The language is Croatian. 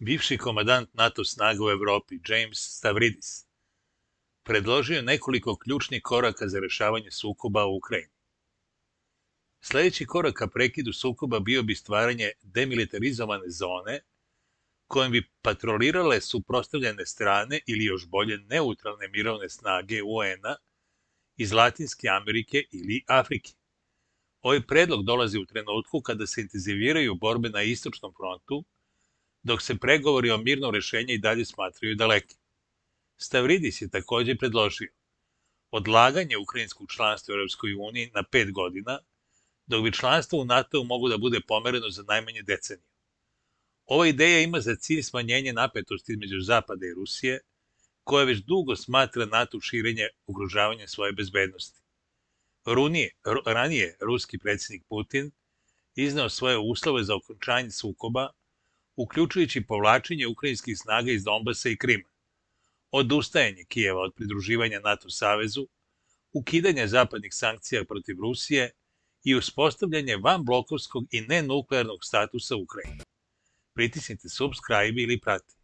Bivši komandant NATO snaga u Evropi, James Stavridis, predložio je nekoliko ključnih koraka za rešavanje sukoba u Ukrajini. Sledeći korak ka prekidu sukoba bio bi stvaranje demilitarizovane zone kojom bi patrolirale suprotstavljene strane ili još bolje neutralne mirovne snage UN-a iz Latinske Amerike ili Afrike. Ovaj predlog dolazi u trenutku kada se intenziviraju borbe na istočnom frontu, dok se pregovori o mirnom rešenju i dalje smatraju daleki. Stavridis je takođe predložio odlaganje ukrajinskog članstva u Europskoj uniji na 5 godina, dok bi članstvo u NATO mogu da bude pomereno za najmanje deceniju. Ova ideja ima za cilj smanjenje napetosti između Zapada i Rusije, koja već dugo smatra NATO širenje ugrožavanja svoje bezbednosti. Ranije ruski predsjednik Putin izneo svoje uslove za okončanje sukoba, uključujući povlačenje ukrajinskih snaga iz Donbasa i Krima, odustajanje Kijeva od pridruživanja NATO savezu, ukidanje zapadnih sankcija protiv Rusije i uspostavljanje vanblokovskog i nenuklearnog statusa Ukrajine. Pritisnite subscribe ili prati.